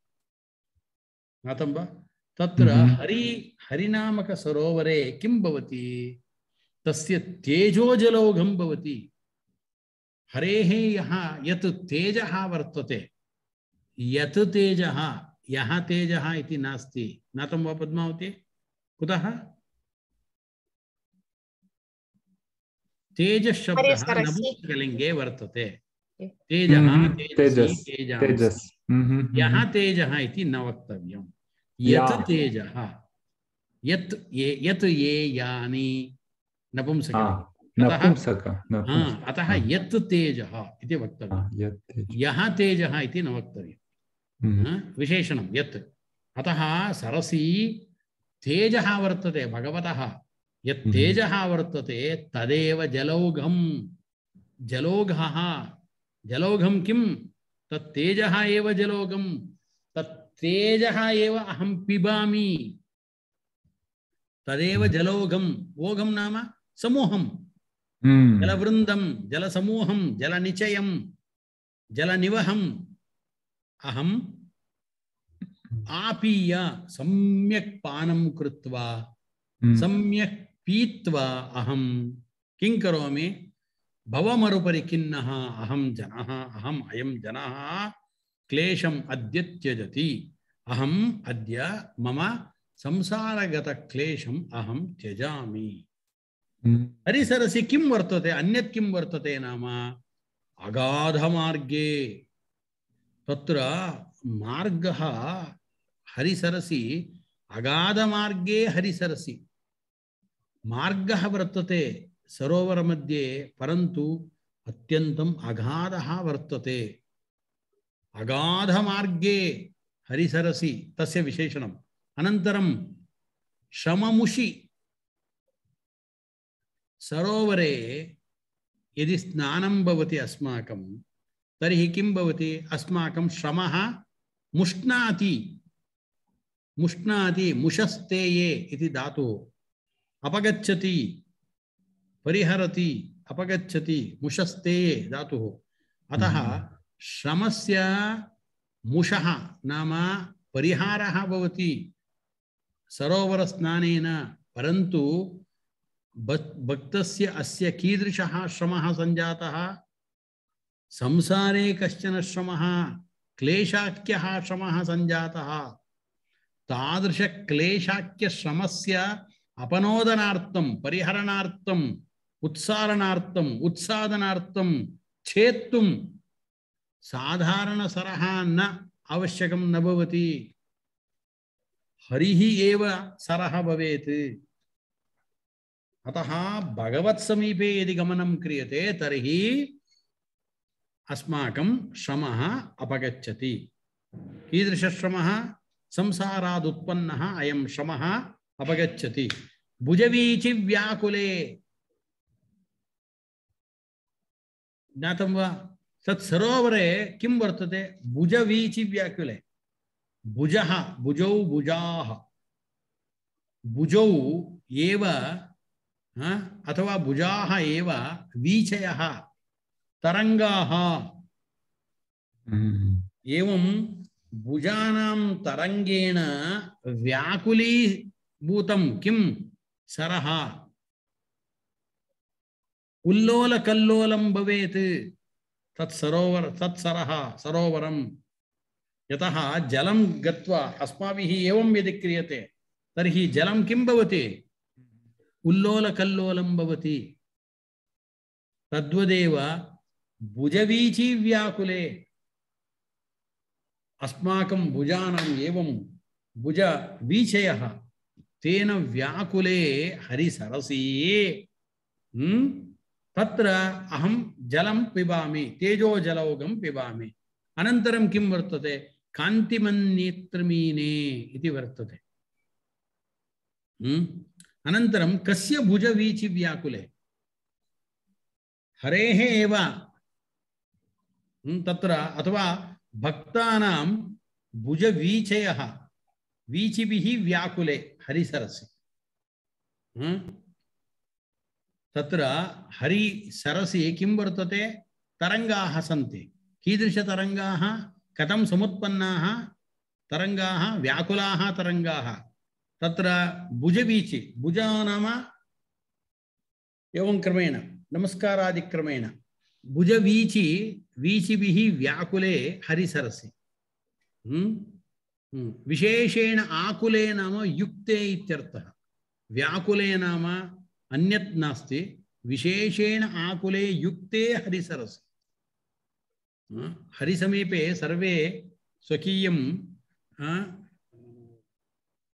Natamba? Tatra hari harinamaka sarovare kim bhavati? Tasya tejo jalaugham bhavati. Harehe yaha yat tejaha vartate. Yat tejaha yaha tejaha iti nasti. Natamba Padmavati? Kudaha? Tejas shabdaha napuskalinge vartate. Tejaha, tejasi, tejasi. Yaha tejaha iti navaktavyam. Yat tejaha. Yat ye, yat ye yani napumsaka. Napumsaka. Ataha yat tejaha iti vaktavyam. Yaha tejaha iti navaktavyam. Visheshanam yat. Ataha sarasi tejaha vartate bhagavataha. Yat tejaha vartate tadeva jalaugham. Jaloghaha. Jalaugham kim? Tat tejaha eva jalaugham. Tat tejaha eva aham pibami. Tadeva jalaugham. Vogham nama samoham. जलवृन्दं जलसमूहं जलनिचयं जलनिवहम् अहम् आपीय सम्यक् पानं कृत्वा सम्यक् पीत्वा अहं किं करोमि भवमरुपरि खिन्नः अहं जनः अहम् अयं जनः क्लेशम् अद्य त्यजति अहम् अद्य मम संसारगत क्लेशम् अहं त्यजामि। हरिसरसि किं वर्तते अन्यत् किं वर्तते नाम अगाधमार्गे तत्र मार्गः हरिसरसि अगाधमार्गे हरिसरसि मार्गः वर्तते सरोवर मध्ये परन्तु अत्यन्तम् अगाधः वर्तते। अगाधमार्गे हरिसरसि तस्य विशेषणम्। अनन्तरं श्रममुषि सरोवरे यदि स्नानं भवति अस्माकं तर्हि किं भवति अस्माकं श्रमः मुष्णाति मुष्णाति मुषस्तेये इति धातुः अपगच्छति परिहरति अपगच्छति मुषस्तेये धातुः। अतः श्रमस्य मुषः नाम परिहारः भवति सरोवर स्नानेन। परन्तु भक्तस्य अस्य कीदृशः श्रमः सञ्जातः संसारे कश्चन श्रमः क्लेशाख्यः श्रमः सञ्जातः। तादृश क्लेशाख्य श्रमस्य अपनोदनार्थं परिहरणार्थं उत्सारणार्थं उत्सादनार्थं छेत्तुं साधारण सरः न आवश्यकं न भवति हरिः एव सरः भवेत्। अतः भगवत् समीपे यदि गमनं क्रियते तर्हि अस्माकं श्रमः अपगच्छति। कीदृश श्रमः संसाराद् उत्पन्नः अयं श्रमः अपगच्छति। भुजवीचि व्याकुले ज्ञातं वा तत् सरोवरे किं वर्तते भुजवीचि व्याकुले भुजः भुजौ भुजाः भुजौ एव अथवा भुजाः एव वीचयः तरंगाः। एवं भुजानां तरंगेण व्याकुलीभूतं किं सरः उल्लोलकल्लोलं भवेत् तत् सरोवर तत् सरः सरोवरं। यतः जलं गत्वा अस्माभिः एवं यदि क्रियते तर्हि जलं किं भवति उल्लोलकल्लोलं भवति। तद्वदेव भुजवीचि व्याकुले अस्माकं भुजानाम् एवं भुजवीचयः तेन व्याकुले हरिसरसि तत्र अहं जलं पिबामि तेजो जलौघं पिबामि। अनन्तरं किं वर्तते कान्तिमन्नेत्रमीने इति वर्तते। अनन्तरं कस्य भुजवीचि व्याकुले हरेः एव तत्र अथवा भक्तानां भुजवीचयः वीचिभिः व्याकुले हरिसरसि। तत्र हरिसरसि किं वर्तते तरंगाः सन्ति। कीदृशतरंगाः कथं समुत्पन्नाः तरंगाः व्याकुलाः तरंगाः। तत्र भुजवीचि भुजा नाम एवं क्रमेण नमस्कारादिक्रमेण भुजवीचि वीचिभिः व्याकुले हरिसरसि। विशेषेण आकुले नाम युक्ते इत्यर्थः। व्याकुले नाम अन्यत् नास्ति विशेषेण आकुले युक्ते हरिसरसि। हरिसमीपे सर्वे स्वकीयं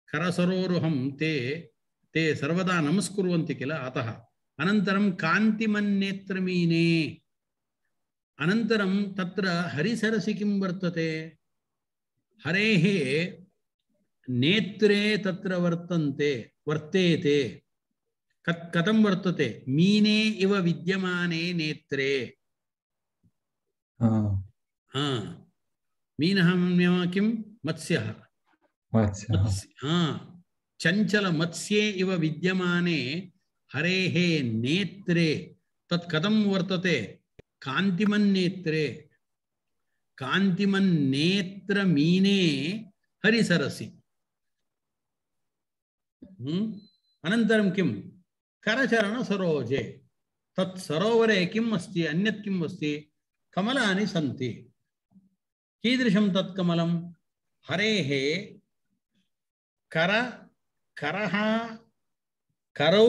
करसरोरुहं ते ते सर्वदा नमस्कुर्वन्ति किल। अतः अनन्तरं कान्तिमन्नेत्रमीने अनन्तरं तत्र हरिसरसि किं वर्तते हरेः नेत्रे तत्र वर्तन्ते वर्तेते। कथं वर्तते मीने इव विद्यमाने नेत्रे। हाँ मीनः किं मत्स्यः चंचल मत्स्ये इव विद्यमाने हरेः नेत्रे तत् कथं वर्तते कान्तिमन्नेत्रे कान्तिमन्नेत्रमीने हरिसरसि अनन्तरं किं करचरणसरोजे तत् सरोवरे किम् अस्ति अन्यत् किम् अस्ति कमलानि सन्ति कीदृशं तत् कमलं हरेः कर करः करौ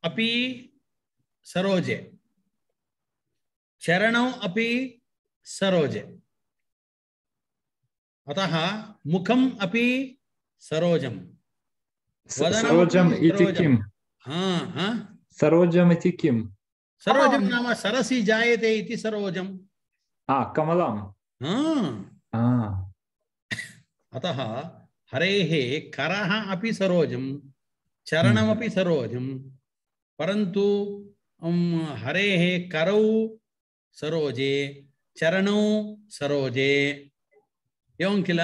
अपि सरोजे चरणौ अपि सरोजे अतः मुखम् अपि सरोजं सरोजम् इति किम् हाँ हाँ सरोजम् इति किम् सरोजं नाम सरसि जायते इति सरोजम् आ कमलं हाँ अतः हरेः करः अपि सरोजं चरणमपि सरोजं परन्तु हरेः करौ सरोजे चरणौ सरोजे एवं किल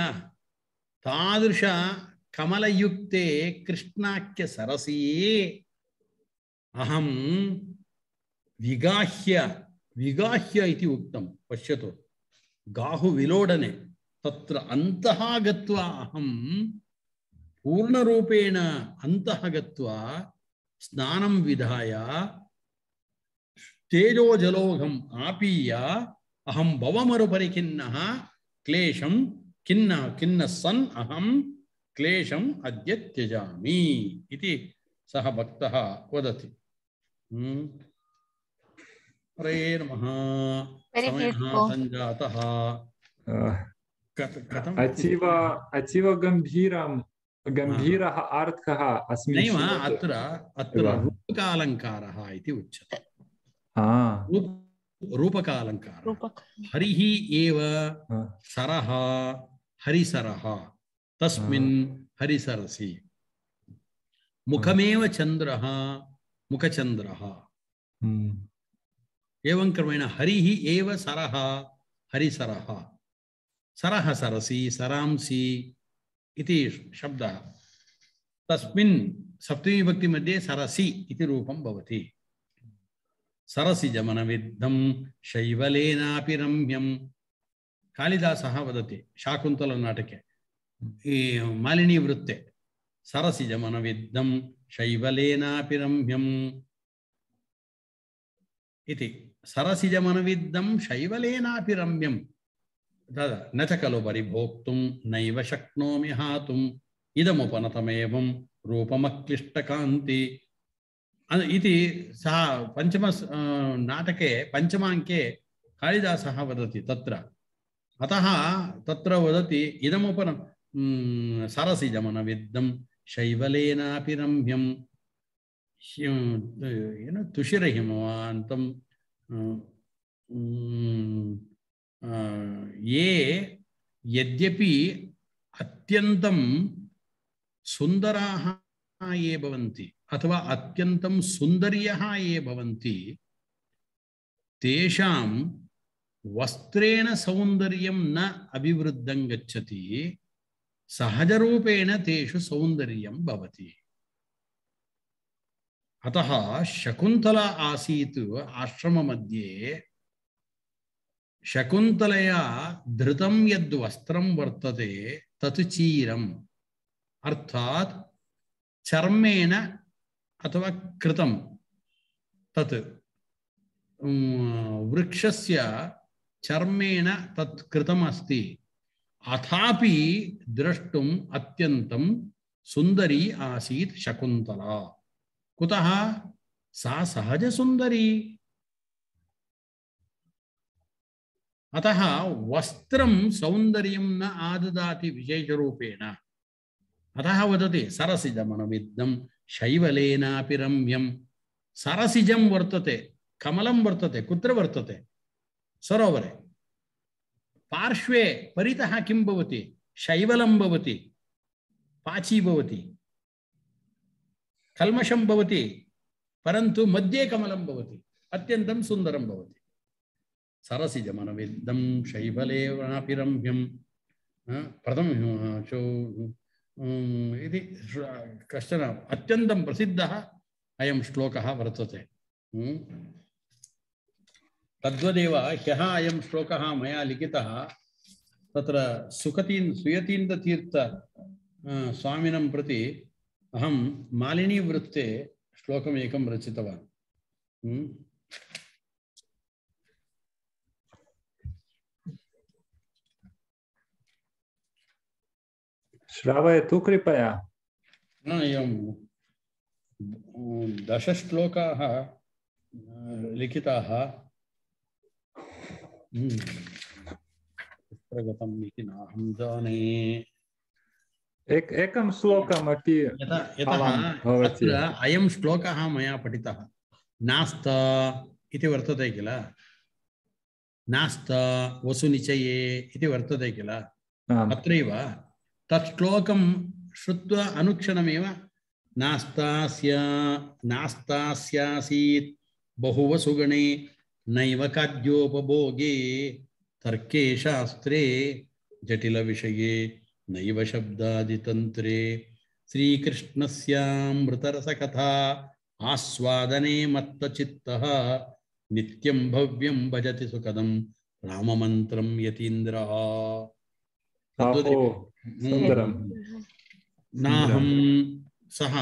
तादृश कमलयुक्ते कृष्णाख्य सरसी अहं विगाह्य विगाह्य इति उक्तं पश्यतु गाहु विलोडने तत्र अन्तः गत्वा अहं पूर्णरूपेण अन्तः गत्वा स्नानं विधाय तेजोजलोघम् आपीय अहं भवमरुपरिखिन्नः क्लेशं किन्न किन्न सन् अहं क्लेशम् अद्य त्यजामि इति सः भक्तः वदति हरे नमः समयः सञ्जातः कथम् अतीव अतीव गम्भीरं गम्भीरः अर्थः अस्मिन् नैव अत्र अत्र रूपकालङ्कारः इति उच्यते रूपकालङ्कारः हरिः एव सरः हरिसरः तस्मिन् हरिसरसि मुखमेव चन्द्रः मुखचन्द्रः एवं क्रमेण हरिः एव सरः हरिसरः सरः सरसि सरांसि इति शब्दः तस्मिन् सप्तमी विभक्ति मध्ये सरसि इति रूपं भवति सरसि जमनविद्धं शैवलेनापि रम्यं कालिदासः वदति शाकुन्तलनाटके मालिनी वृत्ते सरसि जमनविद्धं शैवलेनापि रम्यम् इति सरसि जमनविद्धं शैवलेनापि रम्यं न च खलु परिभोक्तुं नैव शक्नोमि हातुम् इदमुपनतमेवं रूपमक्लिष्टकान्ति इति सः पंचम नाटके पंचमाङ्के कालिदासः वदति तत्र अतः तत्र वदति इदमुपन सरसि जमनविद्धं शैवलेनापि रम्यं ಏನು ತುಷಿರಹಿಮವಾಂತಂ ये यद्यपि अत्यन्तं सुन्दराः ये भवन्ति अथवा अत्यन्तं सुन्दर्यः ये भवन्ति तेषां वस्त्रेण सौन्दर्यं न अभिवृद्धं गच्छति सहजरूपेण तेषु सौन्दर्यं भवति अतः शकुन्तला आसीत् आश्रममध्ये शकुन्तलया धृतं यद् वस्त्रं वर्तते तत् चीरम् अर्थात् चर्मेण अथवा कृतं तत् वृक्षस्य चर्मेण तत् कृतम् अस्ति अथापि द्रष्टुम् अत्यन्तं सुन्दरी आसीत् शकुन्तला कुतः सा सहज सुन्दरी अतः वस्त्रं सौन्दर्यं न आददाति विशेषरूपेण अतः वदति सरसिजमनविद्धं शैवलेनापि रम्यं सरसिजं वर्तते कमलं वर्तते कुत्र वर्तते सरोवरे पार्श्वे परितः किं भवति शैवलं भवति पाची भवति कल्मषं भवति परन्तु मध्ये कमलं भवति अत्यन्तं सुन्दरं भवति सरसिजमनविद्धं शैवलेनापि रम्यं प्रथमं इति कश्चन अत्यन्तं प्रसिद्धः अयं श्लोकः वर्तते तद्वदेव ह्यः अयं श्लोकः मया लिखितः तत्र सुखतीन् सुयतीन्द्रतीर्थ स्वामिनं प्रति अहं मालिनीवृत्ते श्लोकमेकं रचितवान्। श्रावयतु कृपया। एवं दशश्लोकाः लिखिताः। गतम् इति नाहं जाने। एक एकं श्लोकमपि अत्र अयं श्लोकः मया पठितः। नास्त इति वर्तते किल, नास्त वसुनिचये इति वर्तते किल, अत्रैव तत् श्लोकं श्रुत्वा अनुक्षणमेव नास्तास्य नास्तास्यासीत् बहुवसुगणे नैव खाद्योपभोगे तर्के शास्त्रे जटिलविषये नैव शब्दादितन्त्रे श्रीकृष्णस्यामृतरसकथा आस्वादने मत्तचित्तः नित्यं भव्यं भजति सुखदं राममन्त्रं यतीन्द्रः। नाहं सः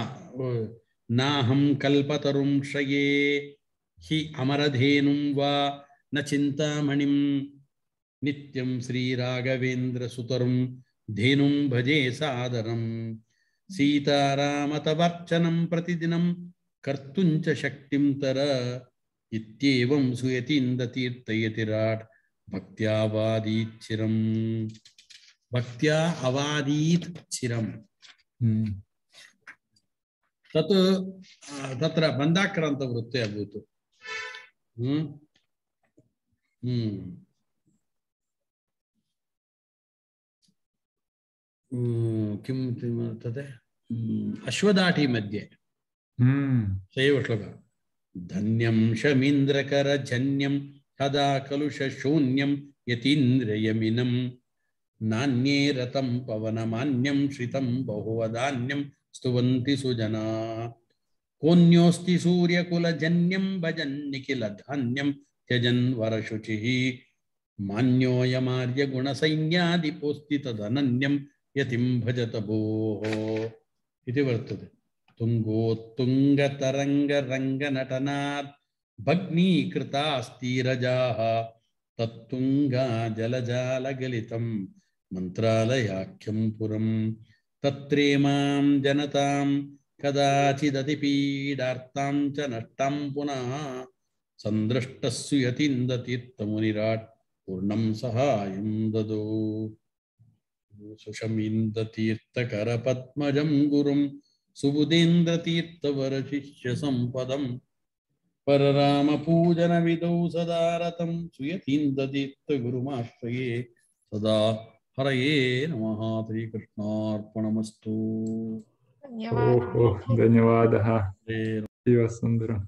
नाहं कल्पतरुं श्रये हि अमरधेनुं वा न चिन्तामणिं नित्यं श्रीराघवेन्द्रसुतरुं धेनुं भजे सादरं सीतारामतवर्चनं प्रतिदिनं कर्तुं च शक्तिं तर इत्येवं सुयतीन्द्रतीर्थयतिराट् भक्त्या अवादीत् चिरं भक्त्या अवादीत् चिरं। तत् तत्र बन्धाक्रान्तवृत्ते अभूत्। किं तत् अश्वदाठी मध्ये सैव श्लोकः। धन्यं शमीन्द्रकरजन्यं तदा कलुषशून्यं यतीन्द्रयमिनं नान्ये रतं पवनमान्यं श्रितं बहुवदान्यं स्तुवन्ति सुजना कोऽन्योऽस्ति सूर्यकुलजन्यं भजन् निखिलधान्यं त्यजन् वरशुचिः मान्योऽयमार्यगुणसैन्यादिपोऽस्ति तदनन्यं यतिं भजत भोः इति वर्तते। तुङ्गोत्तुङ्गतरङ्गरङ्गनटनात् भग्नीकृतास्तीरजाः तत्तुङ्गा जलजालगलितं मन्त्रालयाख्यं पुरं तत्रेमां जनतां कदाचिदतिपीडार्तां च नष्टां पुनः सन्दृष्टस्सु यतीन्द्रतीर्थमुनिराट् पूर्णं सहायं ददौ। सुशमीन्द्रतीर्थकरपद्मजं गुरुं सुबुधेन्द्रतीर्थवरशिष्यसम्पदं पररामपूजनविदौ सदा रतं सुयतीन्द्रतीर्थगुरुमाश्रये सदा। हरये नमः। श्रीकृष्णार्पणमस्तु। धन्यवादः। धन्यवादः। शिवसुन्दरम्।